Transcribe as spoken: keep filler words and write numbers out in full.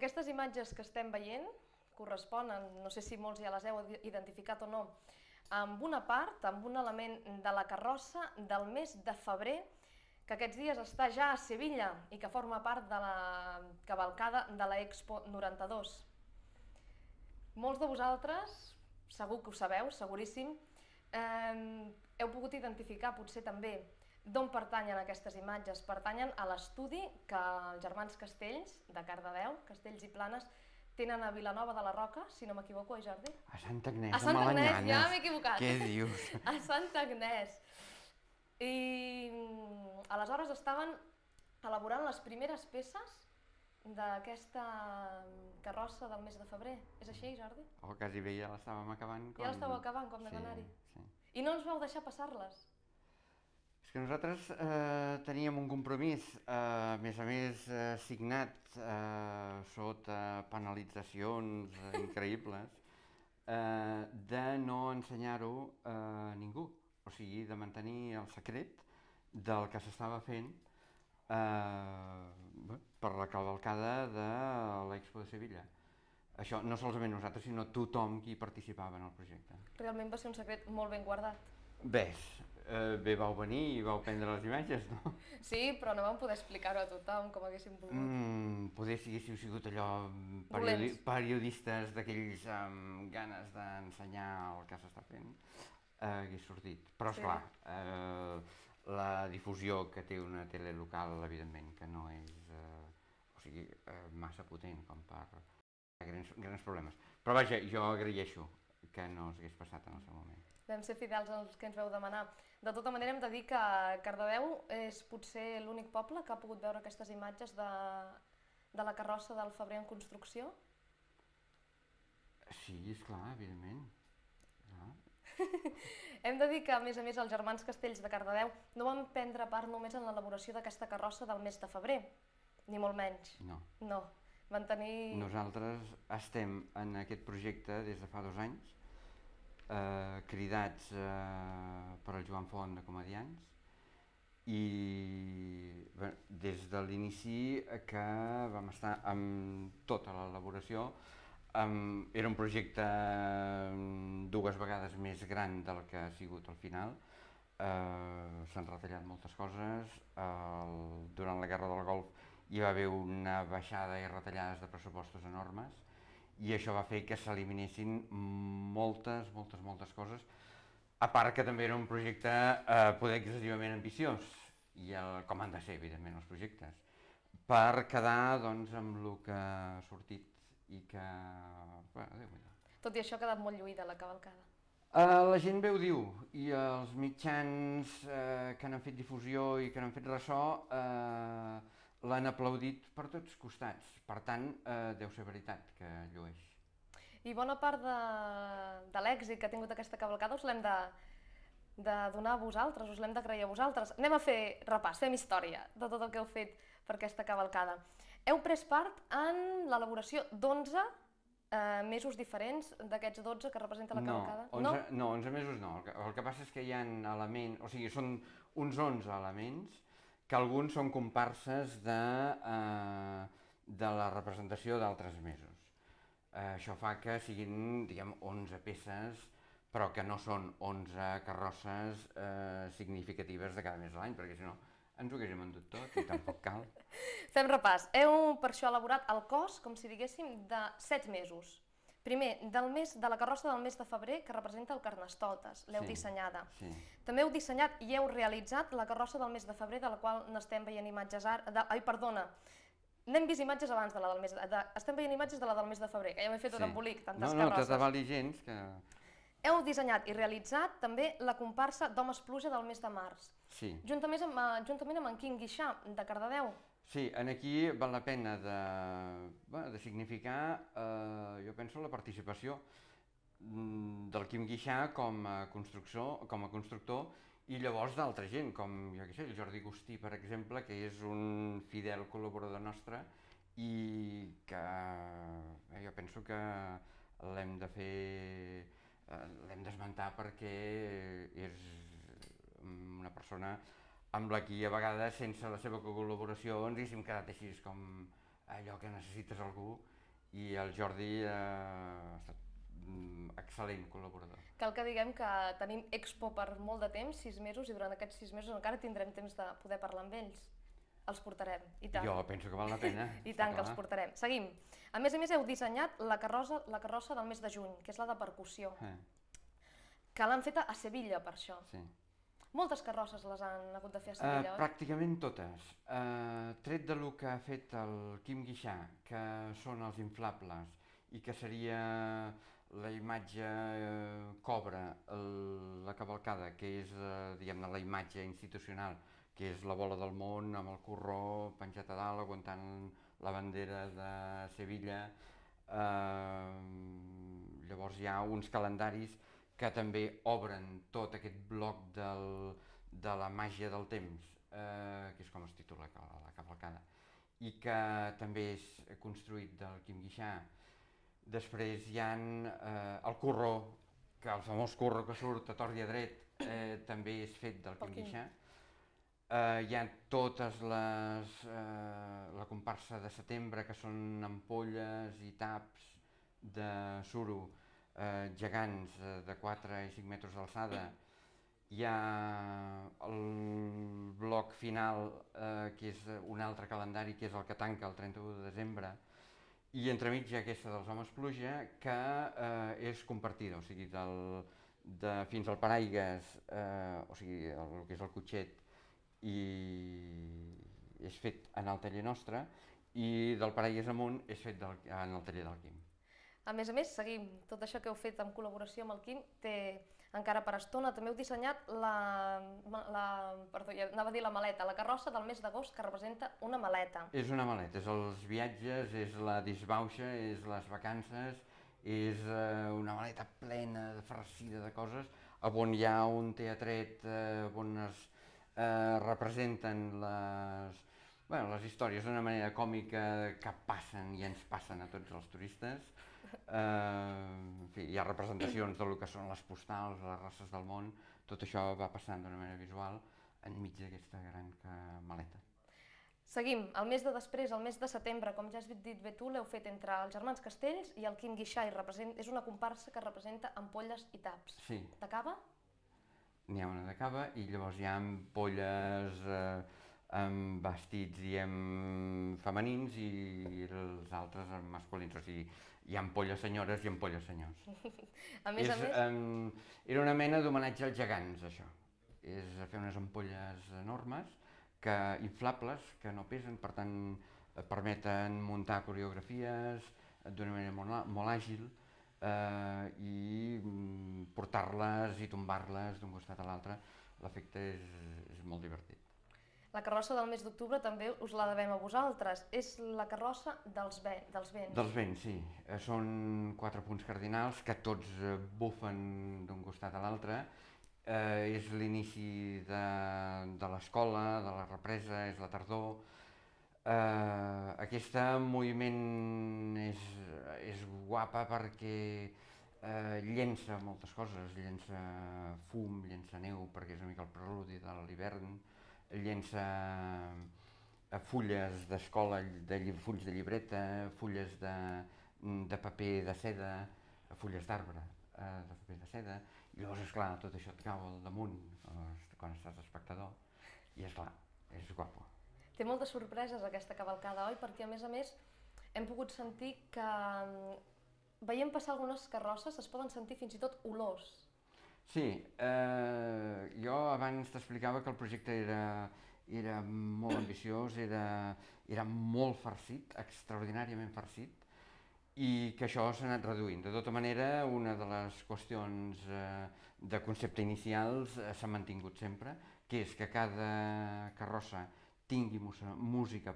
Aquestes imatges que estem veient corresponen, no sé si molts ja les heu identificat o no, amb una part, amb un element de la carrossa del mes de febrer, que aquests dies està ja a Sevilla i que forma part de la cavalcada de l'Expo noranta-dos. Molts de vosaltres, segur que ho sabeu, seguríssim, eh, heu pogut identificar potser també d'on pertanyen aquestes imatges. Pertanyen a l'estudi que els germans Castells, de Cardedeu, Castells i Planes, tenen a Vilanova de la Roca, si no m'equivoco, eh, Jordi? A Santa Agnès, a Santa Agnès, ja m'he equivocat. Què dius? A Santa Agnès. I aleshores estaven elaborant les primeres peces d'aquesta carrossa del mes de febrer. És així, Jordi? Oh, quasi bé ja l'estàvem acabant. Ja l'estàveu acabant, com de d'anar-hi. Sí. I no ens vau deixar passar-les. És que nosaltres eh, teníem un compromís, eh, a més a més eh, signat eh, sota penalitzacions eh, increïbles, eh, de no ensenyar-ho a ningú, o sigui, de mantenir el secret del que s'estava fent eh, per la cavalcada de l'Expo de Sevilla. Això no solament nosaltres, sinó tothom qui participava en el projecte. Realment va ser un secret molt ben guardat. Bé, eh, bé vau venir i vau prendre les imatges, no? Sí, però no vam poder explicar-ho a tothom com haguéssim volgut. Mm, poder si haguéssiu sigut allò periodi periodistes d'aquells amb ganes d'ensenyar el que s'està fent, eh, hagués sortit. Però, esclar, sí. eh, la difusió que té una tele local, evidentment, que no és eh, o sigui, eh, massa potent com per grans, grans problemes. Però vaja, jo agraeixo que no s'hagués passat en el seu moment. Vam ser fidels als que ens vau demanar. De tota manera, hem de dir que Cardedeu és potser l'únic poble que ha pogut veure aquestes imatges de, de la carrossa del febrer en construcció. Sí, esclar, evidentment. Clar. Hem de dir que, a més a més, els germans Castells de Cardedeu no van prendre part només en l'elaboració d'aquesta carrossa del mes de febrer, ni molt menys. No. No. Van tenir... Nosaltres estem en aquest projecte des de fa dos anys, eh, cridats eh, per el Joan Font de Comediants, i bé, des de l'inici que vam estar amb tota l'elaboració. Um, era un projecte dues vegades més gran del que ha sigut al final. Uh, S'han retallat moltes coses. Uh, durant la Guerra del Golf hi va haver una baixada i retallades de pressupostos enormes i això va fer que s'eliminessin moltes, moltes, moltes coses, a part que també era un projecte eh, poder excessivament ambiciós, i el, com han de ser, evidentment, els projectes, per quedar doncs, amb el que ha sortit i que... Bueno, Déu-n'hi-do. Tot i això ha quedat molt lluïda la cavalcada. Uh, la gent bé ho diu, i els mitjans uh, que n'han fet difusió i que n'han fet ressò uh, l'han aplaudit per tots costats. Per tant, uh, deu ser veritat que llueix. I bona part de, de l'èxit que ha tingut aquesta cavalcada us l'hem de, de donar a vosaltres, us l'hem d'agrair a vosaltres. Anem a fer repàs, fem història de tot el que heu fet per aquesta cavalcada. Heu pres part en l'elaboració d'onze Uh, mesos diferents d'aquests dotze que representa la cavalcada? No, onze, no? no, onze mesos no. El que, el que passa és que hi ha elements, o sigui, són uns onze elements que alguns són comparses de, uh, de la representació d'altres mesos. Uh, això fa que siguin, diguem, onze peces, però que no són onze carrosses uh, significatives de cada mes de l'any, perquè si no ens ho haguéssim endut tot i tampoc cal. Fem repàs. Heu per això elaborat el cos, com si diguéssim, de set mesos. Primer, del mes, de la carrossa del mes de febrer, que representa el Carnestoltes, l'heu sí, dissenyada. Sí. També heu dissenyat i heu realitzat la carrossa del mes de febrer, de la qual n'estem veient imatges ara... De, ai, perdona, n'hem vist imatges abans de la del mes de... de estem veient imatges de la del mes de febrer, que ja m'he fet sí. un embolic, tantes no, no, carrosses. No, no, t'aval gens que... Heu dissenyat i realitzat també la comparsa d'Homes Pluja del mes de març. Sí. Juntament amb, juntament amb en Quim Guixà, de Cardedeu. Sí, en aquí val la pena de, bueno, de significar, eh, jo penso, la participació del Quim Guixà com a constructor, com a constructor i llavors d'altra gent, com jo què sé, el Jordi Agustí, per exemple, que és un fidel col·laborador nostre i que eh, jo penso que l'hem de fer... l'hem d'esmentar perquè és una persona amb la qui a vegades sense la seva col·laboració ens haguéssim quedat així com allò que necessites algú, i el Jordi ha estat excel·lent col·laborador. Cal que diguem que tenim Expo per molt de temps, sis mesos, i durant aquests sis mesos encara tindrem temps de poder parlar amb ells. Els portarem, i tant. Jo penso que val la pena. I tant que els portarem. Seguim. A més a més heu dissenyat la carrossa, la carrossa del mes de juny, que és la de percussió, eh. que l'han feta a Sevilla per això. Sí. Moltes carrosses les han hagut de fer a Sevilla, uh, oi? Pràcticament totes. Uh, tret de lo que ha fet el Quim Guixà, que són els inflables, i que seria la imatge eh, cobra, el, la cavalcada, que és eh, diguem-ne la imatge institucional, que és la bola del món amb el corró penjat a dalt, aguantant la bandera de Sevilla. Eh, llavors hi ha uns calendaris que també obren tot aquest bloc del, de la màgia del temps, eh, que és com es titula la cavalcada, i que també és construït del Quim Guixà. Després hi ha eh, el corró, que el famós corró que surt a tort i a dret, eh, també és fet del Quim Guixà. Eh, hi ha totes les, eh, la comparsa de setembre, que són ampolles i taps de suro eh, gegants eh, de quatre i cinc metres d'alçada. Hi ha el bloc final, eh, que és un altre calendari, que és el que tanca el trenta-u de desembre, i entremig hi ha aquesta dels Homes Pluja, que eh, és compartida, o sigui, del, de, fins al paraigues, eh, o sigui, el, el que és el cotxet, i és fet en el taller nostre, i del paraigues amunt és fet del, en el taller del Quim. A més a més, seguim, tot això que heu fet en col·laboració amb el Quim té encara per estona. També heu dissenyat la, la, perdó, anava a dir la maleta, la carrossa del mes d'agost, que representa una maleta. És una maleta, és els viatges, és la disbauxa, és les vacances, és eh, una maleta plena, farcida de coses, on hi ha un teatret eh, on es eh, representen les, bueno, les històries d'una manera còmica que passen i ens passen a tots els turistes. Eh, en fi, hi ha representacions del que són les postals, les races del món, tot això va passant d'una manera visual enmig d'aquesta gran maleta. Seguim, el mes de després, el mes de setembre, com ja has dit bé tu, l'heu fet entre els germans Castells i el Quim Guixà, i és una comparsa que representa ampolles i taps. Sí. De cava? N'hi ha una de cava, i llavors hi ha ampolles eh, amb vestits, diem, femenins, i els altres amb masculins, o sigui, hi ha ampolles senyores i ampolles senyors. A més a més... Era una mena d'homenatge als gegants, això. És fer unes ampolles enormes, que inflables, que no pesen, per tant permeten muntar coreografies d'una manera molt, molt àgil, eh, i portar-les i tombar-les d'un costat a l'altre. L'efecte és, és molt divertit. La carrossa del mes d'octubre també us la devem a vosaltres. És la carrossa dels, ve dels vents. Dels vents, sí. Són quatre punts cardinals que tots bufen d'un costat a l'altre. Eh, és l'inici de, de l'escola, de la represa, és la tardor. Eh, aquest moviment és, és guapa perquè eh, llença moltes coses, llença fum, llença neu, perquè és una mica el preludi de l'hivern, llença fulles d'escola, de, fulls de llibreta, fulles de, de paper de seda, fulles d'arbre eh, de paper de seda, i llavors, esclar, tot això et cau al damunt quan estàs espectador, i esclar, és guapo. Té moltes sorpreses aquesta cavalcada, oi? Perquè a més a més hem pogut sentir que veient passar algunes carrosses es poden sentir fins i tot olors. Sí, eh, jo abans t'explicava que el projecte era, era molt ambiciós, era, era molt farcit, extraordinàriament farcit, i que això s'ha anat reduint. De tota manera, una de les qüestions eh, de concepte inicials eh, s'ha mantingut sempre, que és que cada carrossa tingui música